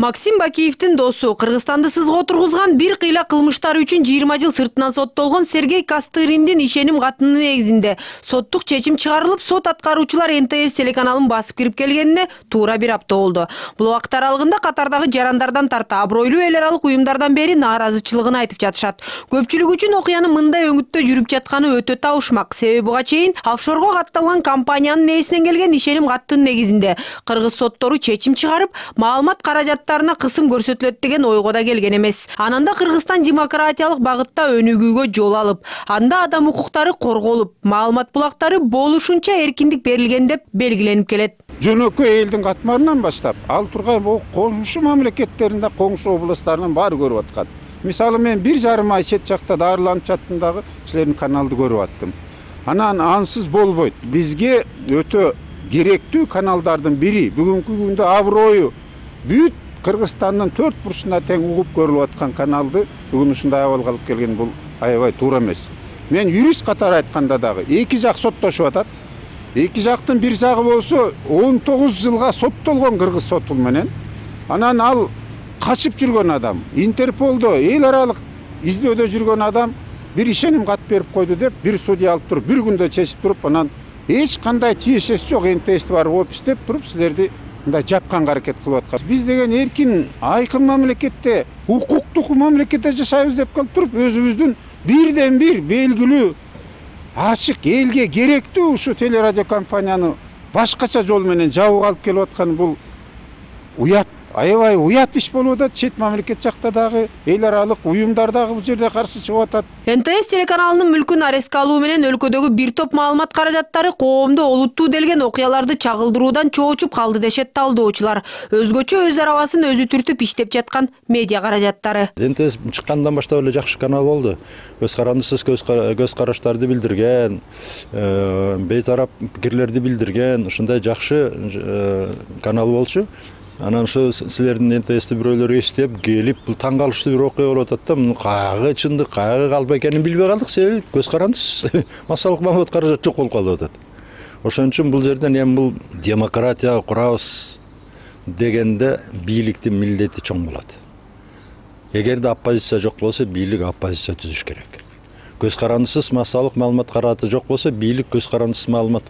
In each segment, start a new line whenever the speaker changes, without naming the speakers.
Максим Бакиевдин досу Кыргызстанды сызга отургузган бир кыйла кылмыштары үчүн 20 жыл сыртынан соттолгон Сергей Костыриндин ишеним катынын негизинде соттук чечим чыгарылып, сот аткаруучулар НТС телеканалын басып кирип келгенине туура бир апта болду. Бул убакыт аралыгында катардагы жарандардан тарта абройлуу эл аралык уюмдардан бери нааразычылыгын айтып жатышат. Көпчүлүк үчүн окуянын мындай өңүттө жүрүп жатканы өтө табышмак. Себеби буга чейин офшорго катталган компаниянын ээсинен келген ишеним каттын негизинде кыргыз соттору чечим чыгарып, маалымат каражаттарына кысым көрсөтүлөт деген ойго да келген эмес. Ананда Кыргызстан демократиялык багытта өнүгүүгө жол алып, анда адам укуктары корголуп, маалымат булактары болушунча эркиндик берилген деп белгиленип келет.
Жөнөкөй элдин катмарынан баштап, ал турган коңшу мамлекеттеринде, коңшу областтарынын баары көрүп аткан. Мисалы мен 1,5 ай чет жакта дарыланып жаттым дагы силердин каналды көрүп аттым. Анан ансыз болбойт. Бизге өтө керектүү каналдардын бири. Бүгүнкү күндө аброю бүт Кыргызстандын 4 бурчуна тең угуп көрүлүп аткан каналды бүгүн ушундай абалга алып келген бул аябай туура эмес. Мен юрист катары айтканда дагы эки жак соттошуп атат. Эки жактын бир жагы болсо 19 жылга соттолгон кыргыз соту менен. Анан ал качып жүргөн адам, Интерполдо эл аралык издөөдө жүргөн адам бир ишеним кат берип койду деп бир судья алып туруп, бир күндө чечип туруп, анан эч кандай тиешеси жок НТС бар болуп иштеп туруп силерди мындай жапканга аракет кылып аткан. Биз деген эркин, айкын мамлекетте, укуктук мамлекетте жашайбыз деп калып туруп, өзүбүздүн бирден бир белгилүү, ачык, элге керектүү ушу телерадио компанияны башкача жол менен жабып алып келип аткан бул уят, аябай уят иш болуп атат. Чет мамлекет жакта дагы эл аралык уюмдар дагы бул жерде каршы чыгып атат.
НТС телеканалынын мүлкүн арестке алуу менен өлкөдөгү бир топ маалымат каражаттары коомду олуттуу делген окуяларды чагылдыруудан чоочуп калды дешет талдоочулар. Өзгөчө өз арабасын өзү түртүп иштеп жаткан медиа каражаттары.
НТС чыккандан баштап эле жакшы канал болду. Көз карандысыз көз караштарды билдирген, бейтарап пикирлерди билдирген, ушундай жакшы канал болчу. Анан ошо силердин НТС'ти бирөөлөр эстеп келип, бул таң калыштуу бир окуя болуп атат да, муну кайгы чындык, кайгы калп экенин билбей калдык. Себеби көз карандысыз массалык маалымат каражат жок болуп калып атат. Ошон үчүн бул жерден эми бул демократия курабыз дегенде бийликтин милдети чоң болот. Эгерде оппозиция жок болсо, бийлик оппозиция түзүш керек. Көз карандысыз массалык маалымат каражаты жок болсо, бийлик көз карандысыз маалымат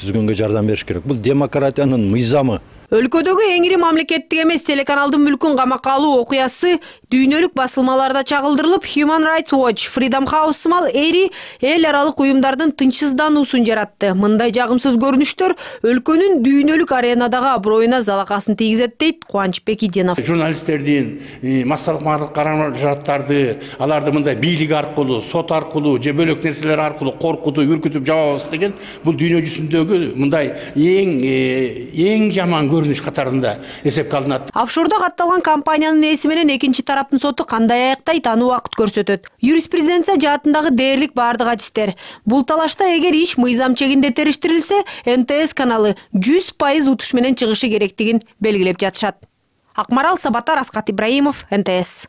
түзгөнгө жардам бериш керек. Бул демократиянын мыйзамы.
Өлкөдөгү эң ири мамлекеттик эмес телеканалдын мүлкүн камакка алуу окуясы дүйнөлүк басылмаларда чагылдырылып, Human Rights Watch, Freedom House сымал эри эл аралык уюмдардын тынчсыздануусун жаратты. Мындай жагымсыз көрүнүштөр өлкөнүн дүйнөлүк аренадагы аброюна залакасын тийгизет дейт Кубаныч Бекиденов.
Журналисттердин массалык каражаттарды, аларды мындай бийлик аркылуу, сот аркылуу, же бөлөк нерселер аркылуу коркутуп, үркүтүп жабабыз деген бул дүйнө жүзүндөгү мындай эң жаман көрүнүш катарында эсепке алынат.
Офшордо катталган компаниянын ээси менен экинчи тараптын соту кандай аяктайт, аны убакыт көрсөтөт. Юриспруденция жаатындагы дээрлик бардык адистер. Бул талашта эгер иш мыйзам чегинде териштирилсе, НТС каналы 100% утуш менен чыгышы керектигин белгилеп жатышат. Акмарал Сабатар, Аскат Ибраимов, НТС.